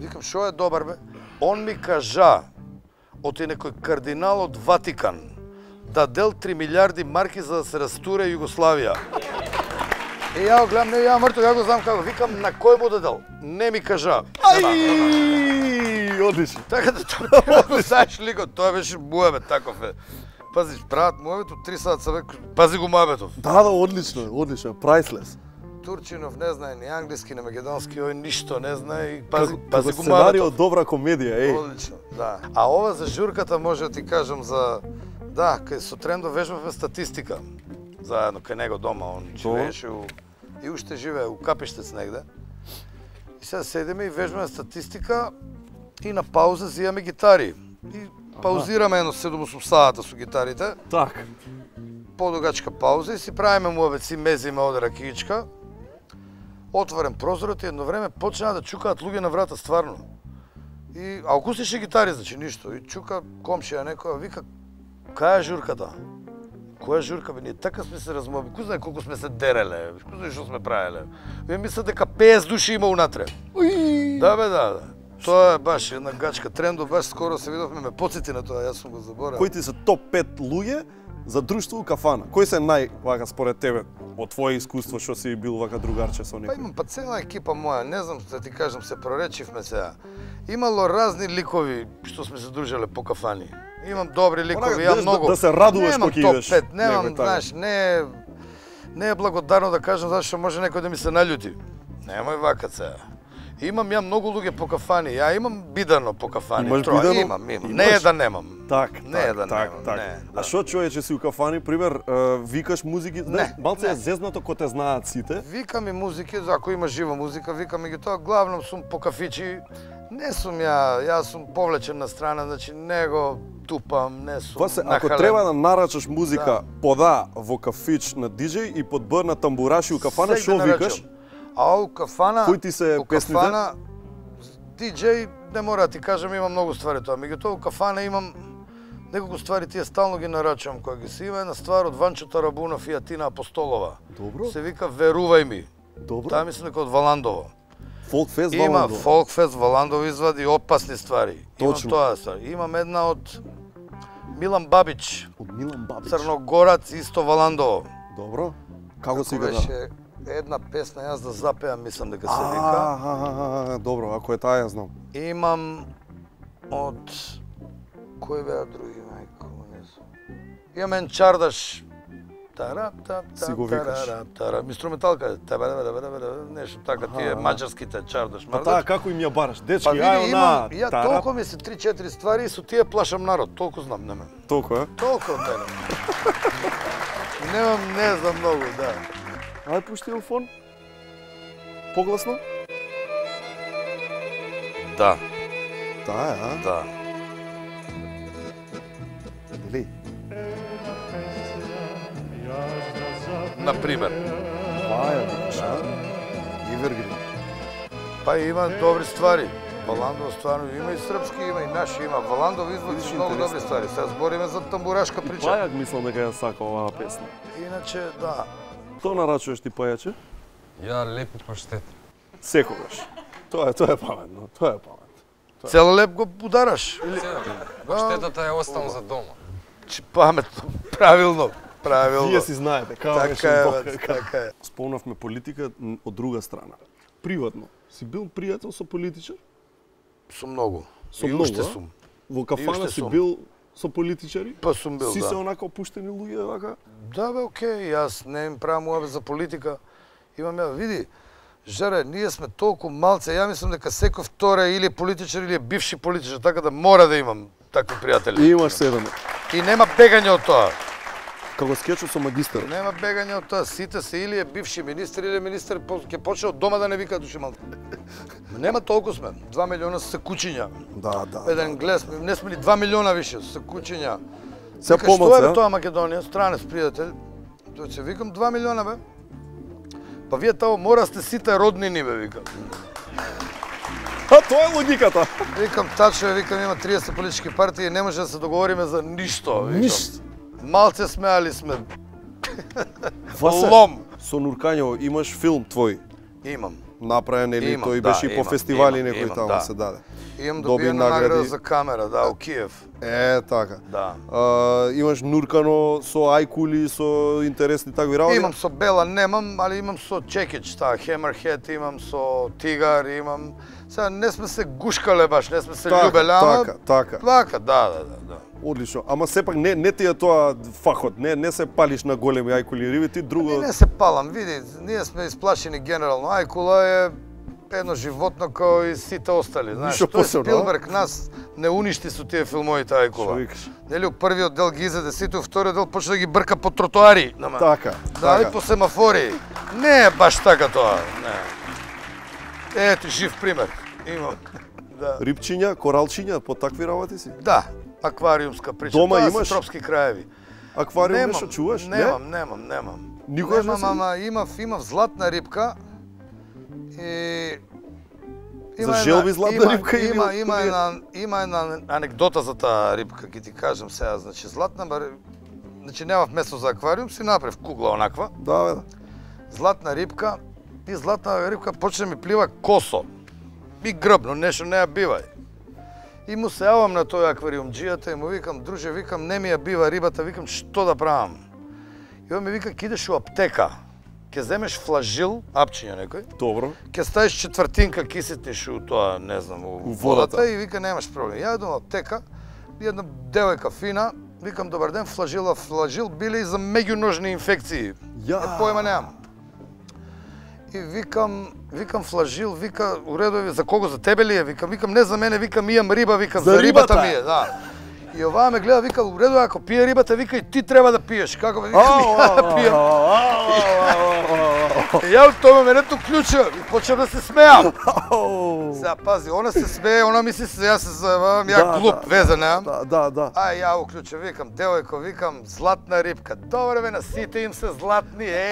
Викам, што е добар, бе? Он ми кажа, оти некој кардинал од Ватикан, дадел три милиарди марки за да се растуре Југославија. И ја гледам, не, ја мртво, ја го знам како, викам, на кој му дадел? Не ми кажа. Ај, одлично. Така да тоа, знаеш ликот, тоа беше муабет, таков е. Пази, прават муабет, у три саат са, пази го муабетов. Да, да, одлично, одлично, priceless. Турчинов не знае ни англиски, ни македонски, ој ништо не знае и пази, Како, пази како го сценарио муабетов. добра комедија, еј. Одлично, да. А ова за журката може да ти кажам за... Да, кај со Трендо вежбавме статистика. Заедно кај него дома, он живееше у... И уште живее у Капиштец негде. И сега седиме и вежбаме статистика и на пауза зијаме гитари. И паузираме едно седум-осум саата со гитарите. Така. Подугачка пауза и си правиме муабет, си мезиме оде ракиичка. Отворен прозорот и едно време почнаа да чукаат луѓе на врата, стварно. И, а акустични гитари, значи ништо. И чука комшија некоја, вика, кај е журката? Која журка, бе, ние така сме се размоби, кој знае колку сме се дереле, кој знае што сме правеле. Вие мислат дека петдесет души има унатре. Да, бе, да, да. Тоа е баш една гачка. Трендо баш скоро се видовме, ме потсети на тоа, јас сум го заборал. Кои ти се топ пет луѓе за друштво у кафана? Кои се нај, вака, според тебе, од твое искуство, што си бил вака другарче со некој? Па имам па цела екипа моја, не знам, да ти кажам, се проречивме сега. Имало разни ликови што сме се дружеле по кафани. Имам добри ликови, ја многу. Да се радуваш кога идеш. Немам топ пет, немам, знаеш, не не е благодарно да кажам зашто може некој да ми се наљути. Немој вака сега. Имам ја многу луѓе по кафани, ја имам бидано по кафани. Имаш Троа, бидано? имам, имам. Не е да немам. Так, не е так, да так, немам, так. не. А што човече си у кафани, пример, викаш музики, знаеш, малце е зезнато кога те знаат сите. Викам и музики, ако има жива музика, викам и ги тоа. Главном сум по кафичи. Не сум ја, јас сум повлечен на страна, значи не го тупам, не сум Васе, ако нахален. треба да нарачаш музика Да. под А во кафич на диџеј и под Б на тамбураши у кафана, Сек што да викаш? нарачам. А у кафана, Кои ти се у песните? кафана, диџеј, не мора да ти кажам, има многу ствари тоа. Меѓутоа, у кафана имам неколку ствари, тие стално ги нарачувам кои ги се. Има една ствар од Ванчо Тарабунов и Атина Апостолова. Добро. Се вика Верувај ми. Добро. Таа мислам дека од Валандово. Фолкфест Има Валандово. Фолкфест Валандово извади опасни ствари. Точно. Имам тоа ствари. Имам една од Милан Бабич. Од Милан Бабич. Црногорац, исто Валандово. Добро. Како си Како го да? беше една песна, јас да запеам, мислам дека се вика. А, добро, ако е таа ја знам. Имам од... Кои беа други, мајко, не знам. Имам ен чардаш. Тарап, тап, Си тап, го викаш. тарарап, тарап. Инструменталка е. Нешто така, тие маđарските чардаш. Па таа како им ја бараш? Дечки, Па види, ајо имам, на... ја тарап. толку ми се три-четири ствари и со тие плашам народ, толку знам, не ме. Толку, е? Толку од мене. Немам, не знам многу, да. Ај пушти телефон. Погласно? Да. Таа е, а? Да. Дели? Например. Тоа е, викаш, а? Ивергрин. Па има добри ствари. Валандово стварно има и српски, има и наши, има. Валандово извади многу добри ствари. Сега збориме за тамбурашка прича. Пајак мислам дека ја сака оваа песна. Иначе, да. Што нарачуваш ти пајаче? Ја лепи паштет. Секогаш. Тоа е, тоа е паметно, тоа е паметно. Цел леп го удараш. Или... Паштетата е оставам за дома. Че паметно, правилно, правилно. Вие си знаете, како така беше е, Бог. бе, така е. Спомнавме политика од друга страна. Приватно, си бил пријател со политичар? Со многу. Со И многу, уште а? сум. Во И кафана уште си сум. бил со политичари? Па сум бил, си да. се онака опуштени луѓе, вака? Да, бе, окей, јас не им правам уабе за политика. Имам ја, види, Жаре, ние сме толку малце, ја мислам дека секој втора или е политичар или е бивши политичар, така да мора да имам такви пријатели. И имаш седам. И нема бегање од тоа. Како скечот со магистар. Нема бегање од тоа, сите се или е бивши министр или министр ќе почне од дома да не вика души малку. Нема толку сме, два милиона се кучиња. Да, да. Еден глес, не сме ни два милиона више, се кучиња. Се помоци, што е тоа Македонија, странец пријател? Тоа ќе викам два милиона бе. Па вие тамо мора сте сите роднини бе, викам. А тоа е логиката. Викам тачо, викам има триесет политички партии, не може да се договориме за ништо, викам. Ништо. Малце сме, али сме Васе, лом. Со Нуркањево имаш филм твој? Имам. Направен или Имам, тој да, беше и по имам, фестивали имам, некој имам, таму да. се даде. Имам Доби добиена награда награди. за камера, да, у Киев. Е, така. Да. А, имаш нуркано со ајкули, со интересни такви работи? Имам со Бела, немам, али имам со Чекич, таа Хемерхед, имам со Тигар, имам. Сега не сме се гушкале баш, не сме се Така, љубеле, ама така, така. Така, да, да, да, да. Одлично. Ама сепак не не ти е тоа фахот, не не се палиш на големи ајкули риби, ти друго. Не, не се палам, види, ние сме исплашени генерално. Ајкула е едно животно како и сите остали, знаеш. Ништо Тој посебно, Спилберг нас не уништи со тие филмовите Ајкула. Што викаш? Нели, у првиот дел ги изеде сите, у вториот дел почна да ги брка по тротоари. Нама. Така, Да, и така. по семафори. Не е баш така тоа, не. Ето, жив пример. Имам. Да. Рибчиња, коралчиња, по такви работи си? Да, аквариумска прича. Дома Тоа имаш? се тропски краеви. Аквариум Немам, нешто чуваш? Немам, немам, немам. Никогаш не Немам, си? ама имав, имав златна рибка и За желби златна има, рибка или има, од има тие? една има една анекдота за таа рибка, ќе ти кажам сега, значи златна бар значи немав место за аквариум, си направив кугла онаква. Да, бе, да. Златна рибка и златна рибка почне ми плива косо. И грбно, нешто не ја бивај. И му се јавам на тој аквариумџијата и му викам, друже, викам, не ми ја бива рибата, викам, што да правам? И он ми вика, ќе идеш у аптека, ќе земеш флажил, апчиња некој, Добро. ќе ставиш четвртинка кисетниш у тоа, не знам, у, У водата. водата. И вика, немаш проблем. Ја идам у аптека, и една девојка фина, викам, добар ден, флажила, флажил биле и за меѓуножни инфекции. Ја. Е, појма немам. И викам, викам флажил, вика, у редови, за кого, за тебе ли е? Викам, викам, не за мене, викам, имам риба, викам, За за, рибата рибата ми е, да. И оваа ме гледа, вика, у редови, ако пие рибата, вика, и ти треба да пиеш. Како ме, викам, ја да пием. И ја од тоа менето клуча и почнав да се смеам. Сега пази, она се смее, она мисли се, јас се заебавам, ја Да, глуп, да. везе немам. Да, да, да. Ај, ја уклуча, викам, девојко, викам, златна рибка. Добре бе, на сите им се златни, еј,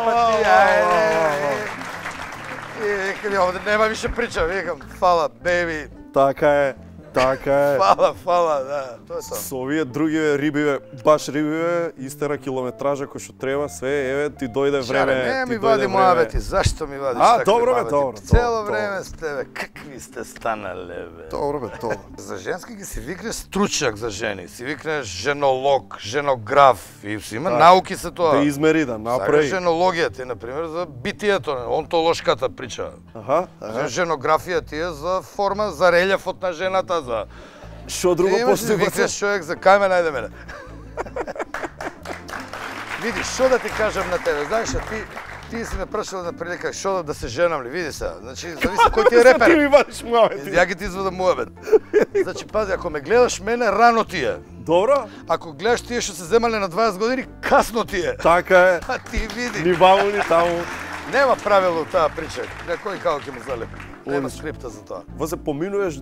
па ти, ајде. И викам, ја, овде нема више прича, викам, фала, беби. Така е, така е. Фала, фала, да, тоа е тоа. Со овие други рибиве, баш рибиве, истера километража кој што треба, све, еве ти дојде време. Шаре, не ти ми дојде вади време. моабети, зашто ми вадиш А, такви добро бе, моабети? добро, Цело добро, време с тебе, какви сте станале бе? Добро бе, добро. За женски ги си викнеш стручњак за жени, си викнеш женолог, женограф и си има Так. науки се тоа. Да измери, да направи. Сакаш женологија ти, например, за битието, онтолошката прича. Аха, аха. Женографија ти е за форма, за релјефот на жената, за... Што друго Имаш ли постои? викнеш човек за кај ме најде мене? Види, што да ти кажам на тебе, знаеш, а ти ти си ме прашал на прилика што да, да се женам ли, види се. Значи, зависи кој ти е репер. Ти ми вадиш муабети. Ја ги ти извадам муабет. Значи, пази, ако ме гледаш мене, рано ти е. Добро. Ако гледаш тие што се земале на дваесет години, касно ти е. Така е. А ти види. Ни ваму, ни таму. Нема правило таа прича. Некој како ќе му залепи. Нема скрипта за тоа. Во се поминуваш е,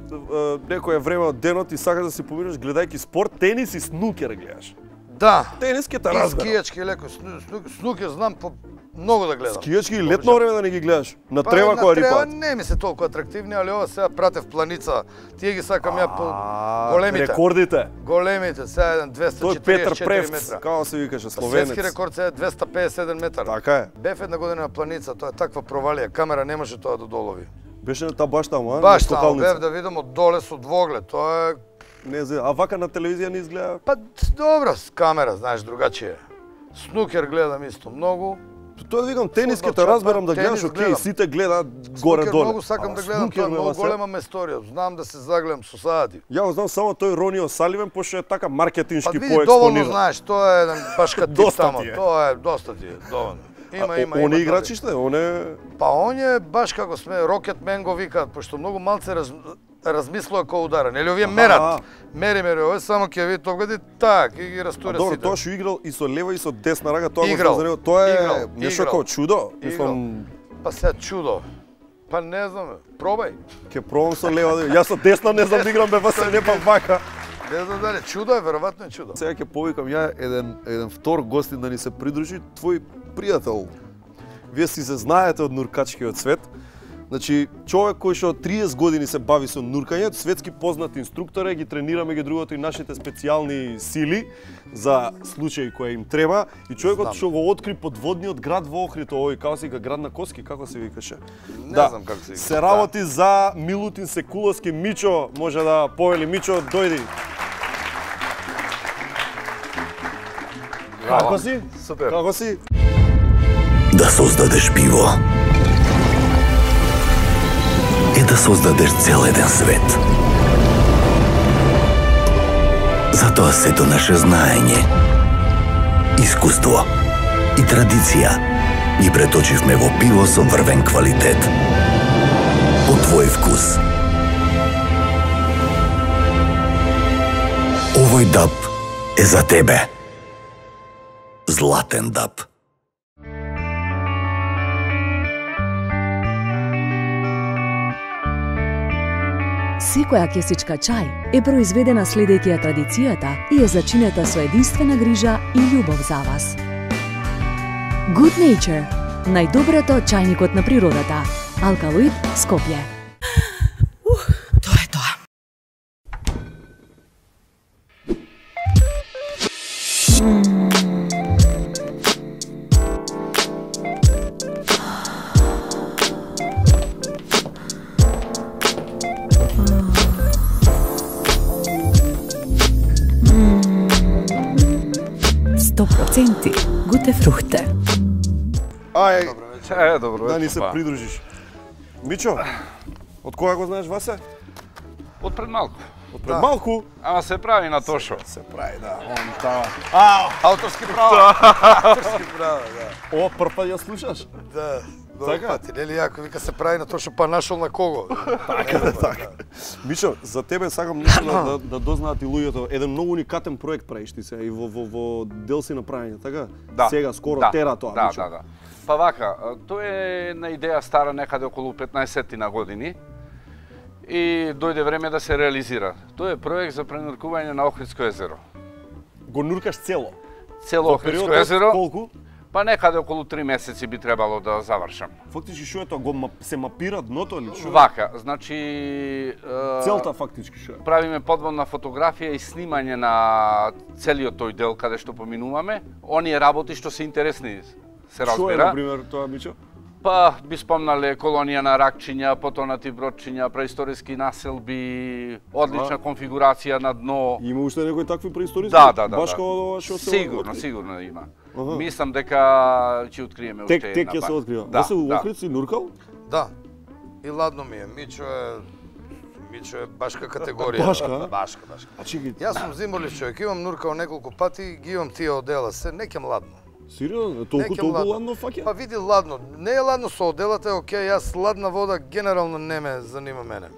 некое време од денот и сакаш да си поминуваш гледајќи спорт, тенис и снукер гледаш. Да. Тенис ке те И разберам. скијачки леко, сну, сну, снукер знам по многу да гледам. Скијачки и летно време да не ги гледаш. На Па, трева на која трева рипаат. не ми се толку атрактивни, али ова сега пратев планица. Тие ги сакам ја по А, големите. Рекордите. Големите, сега еден двесте Тој четиридесет Петар четири Превц, метра. како се викаше, Светски словенец. рекорд сега е двесте педесет и седум метар. Така е. Бев една година на планица, тоа е таква провалија, камера не може тоа да долови. Беше на таа баш таму, а? Баш На таму, скокалница. бев да видам од доле со двоглед, тоа е... Не знам, а вака на телевизија не изгледа? Па добро, с камера, знаеш, другачие. Снукер гледам исто многу. Тоа викам, тенис ке Фудбал, те разберам да тенис гледаш, окей, гледам. сите гледаат Снукер горе-доле. многу сакам Ама да гледам, снукер, тоа е бе, многу Васе. голема месторија. Знам да се загледам со саати. Ја го знам само тој Ронио Саливен, пошто е така Па маркетиншки види, доволно поекспониран. знаеш, тоа е еден башка тип Доста тамо. ти е. Тоа е доста ти е, доволно. Има, А, има, он има. е играчиште, он е... Па он е баш како сме Рокетмен го викаат, пошто многу малце раз... размислува кој удара, нели овие мерат. Мери, мери, овој само ќе ви тогади так и ги растура сите. Добро, тоа што играл и со лева и со десна рага, тоа играл, го знам, тоа е играл, нешто играл, како чудо, играл. мислам. Па сега чудо. Па не знам, пробај. Ќе пробам со лева, јас со десна не знам да играм, бе, па се не па вака. Не знам дали, чудо е, веројатно е чудо. Сега ќе повикам ја еден еден втор гостин да ни се придружи, твој пријател. Вие си се знаете од нуркачкиот свет. Значи, човек кој што триесет години се бави со нуркање, светски познат инструктор е, ги тренираме ги другото и нашите специјални сили за случаи кои им треба. И човекот што го откри подводниот град во Охрид, овој како си га град на Коски, како се викаше? Не да. знам како се викаше. Се работи за Милутин Секуловски. Мичо, може да повели. Мичо, дојди. Како си? Супер. Како си? Да создадеш пиво е да создадеш цел еден свет. Затоа сето наше знаење, искуство и традиција ги преточивме во пиво со врвен квалитет. По твој вкус. Овој даб е за тебе. Златен даб. Секоја кесичка чај е произведена следејќи ја традицијата и е зачинета со единствена грижа и љубов за вас. Good Nature, најдоброто чајникот на природата. Алкалоид, Скопје. Тоа е тоа. сто проценти гуте фрухте. Ај, Добро вечер. Е, добро вечер. Да ни се придружиш. Мичо, од кога го знаеш Васе? Од пред малку. Од пред малку? Ама се прави на Тошо. Се прави, да. Он таа. А, авторски права. Авторски права, да. О, прв пат ја слушаш? Да. Добро Така? пати, нели јако вика се прави на тоа што па нашол на кого. Така, да, така. Мичо, за тебе сакам нешто да, да, да дознаат и луѓето. Еден многу уникатен проект правиш ти се и во во во дел си направење, така? Да. Сега скоро да. тера тоа, да, Мичо. Да, да, Па вака, тоа е една идеја стара некаде околу петнаесет на години и дојде време да се реализира. Тоа е проект за пренуркување на Охридско езеро. Го нуркаш цело? Цело Во Охридско период од езеро. колку? Па некаде околу три месеци би требало да завршам. Фактички што е тоа? Го мап, се мапира дното или што? Вака, значи... Е, Целта фактички што е? Правиме подводна фотографија и снимање на целиот тој дел каде што поминуваме. Оние работи што се интересни, се разбира. Што е, например, тоа, Мичо? Па, би спомнале колонија на ракчиња, потонати бродчиња, преисториски населби, одлична А? конфигурација на дно. Има уште некои такви преисториски? Да, да, да. Баш да. како ова што се Сигурно, откри? сигурно има. Аха. Мислам дека ќе откриеме уште Тек, една. тек ќе се ба- открива. Да, Да, се да. Охрид си нуркал? Да. И ладно ми е. Мичо е Мичо е башка категорија. Башка, а? Башка, башка. А чеки. Јас сум зимолив човек, имам нуркал неколку пати, ги имам тие одела се, неќам ладно. Сериозно? Толку Неќам толку ладно фаќа? Па види ладно, не е ладно со оделата, е окей, јас ладна вода генерално не ме занима мене.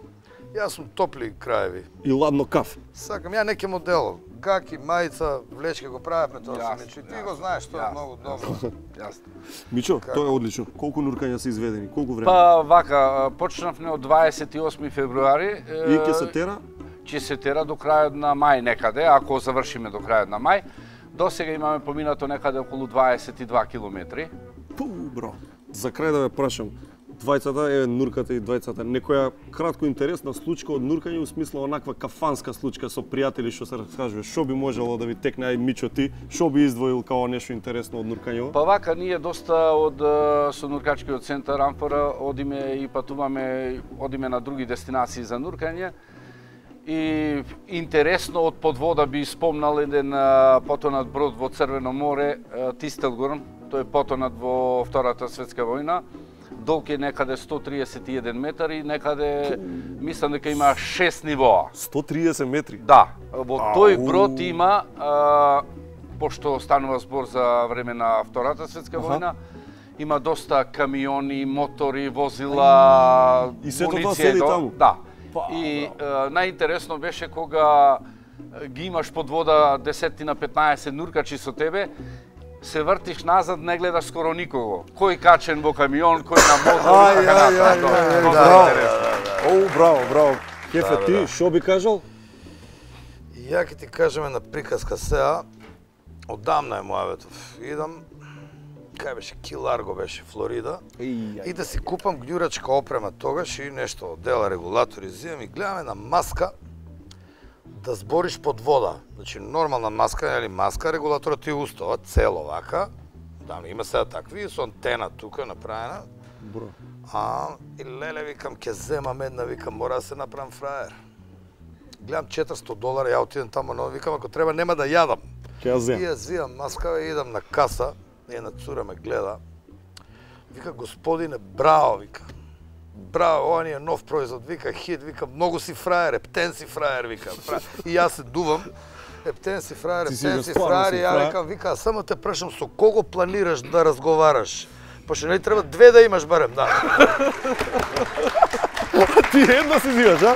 Јас сум топли краеви. И ладно каф. Сакам, ја неќам одело. Гаки, мајца, влечки го правевме тоа со Јасно, Мичо. И ти јасно, го знаеш, тоа е јасно. многу добро. Јасно. Мичо, Како? тоа е одлично. Колку нуркања се изведени? Колку време? Па вака, почнавме од дваесет и осми февруари. И ќе се тера? Ќе се тера до крајот на мај некаде, ако завршиме до крајот на мај. До сега имаме поминато некаде околу дваесет и два километри. Пу, бро. За крај да ве прашам, двајцата, еве нурката и двајцата, некоја кратко интересна случка од нуркање, у смисла онаква кафанска случка со пријатели што се раскажува, што би можело да ви текне, ај Мичо ти, што би издвоил као нешто интересно од нуркањево? Па вака, ние доста од е, со нуркачкиот центар Амфора одиме и патуваме, одиме на други дестинации за нуркање. И интересно од подвода би спомнал еден е, потонат брод во Црвено море, е, Тистелгорн, тој е потонат во Втората светска војна. Долг е некаде сто триесет и еден метар и некаде мислам дека има шест нивоа. сто триесет метри? Да. Во тој Ау. брод има, а, пошто станува збор за време на Втората светска Аха. војна, има доста камиони, мотори, возила, И сето тоа муниција седи до- таму? Да. И најинтересно беше кога ги имаш под вода десет на петнаесет нуркачи со тебе, се вртиш назад, не гледаш скоро никого. Кој качен во камион, кој на мотор, Ај, така ај, ај, натаму. ај, браво. Оу, браво, браво. Кефе, Да, ти, да. шо би кажал? Ја ќе ти кажеме на приказка сега, одамна е мојаветов. Идам, кај беше, Ки Ларго беше, Флорида, и да си купам гњурачка опрема тогаш и нешто, дела регулатори, зимам и гледаме на маска да збориш под вода. Значи, нормална маска, нели маска, регулаторот ти устава, цело вака, да, има сега такви, со антена тука направена. Бро. А, и леле, викам, ќе земам една, викам, мора да се направам фраер. Гледам четиристо долара, ја отидам тамо, но викам, ако треба, нема да јадам. Ќе ја земам. И ја звиам маска, и идам на каса, една цура ме гледа. Вика, господине, браво, вика. Браво, ова ни е нов производ, вика, хит, вика, многу си фраер, ептен си фраер, вика. И јас се дувам, ептен си фраер, Ти си ептен го си стварно фраер, си и ја фраер. викам, вика, само те прашам, со кого планираш да разговараш? Пошто не треба две да имаш барем, да. Ти едно си зиваш, а?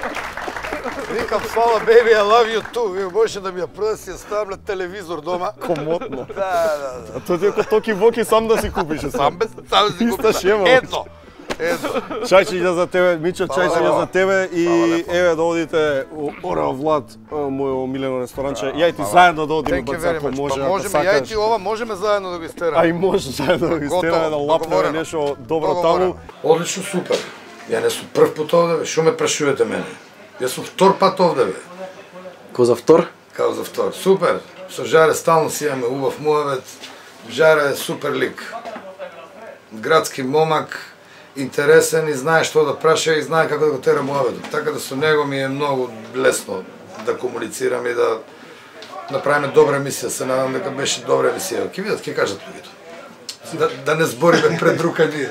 Викам, фала, baby, I love you too. Вие може да ми ја прода си ја ставам на телевизор дома. Комотно. Да, да, да. А тоа ти е како токи воки сам да си купиш. Сам без, сам да си Иста купиш. шема. Едно. Едно. Чајчиња за тебе, Мичо, Фала чајчиња лепо. за тебе и Фала лепо. еве да одите у Орел Влад, мојо омилено ресторанче. Ја и ти Фала. заедно да одиме Thank you бац very ако much. може, Па ако можеме, ја и сакаш. ти ова можеме заедно да го истераме. А и може заедно да го Готово, истераме да лапнеме договорено. нешто добро Договорено. таму. Одлично, супер. Ја не сум прв пат овде, бе. Шо ме прашувате мене? Јас сум втор пат овде, бе. Ко за втор? Као за втор. Супер. Со Жаре стално си имаме убав муавет. Жаре е супер лик. Градски момак, интересен и знае што да праша и знае како да го тера муавет. Така да со него ми е многу лесно да комуницирам и да направиме добра емисија. Се надам дека беше добра емисија. Ќе видат, ќе кажат луѓето. Да, да не збориме пред рука ние.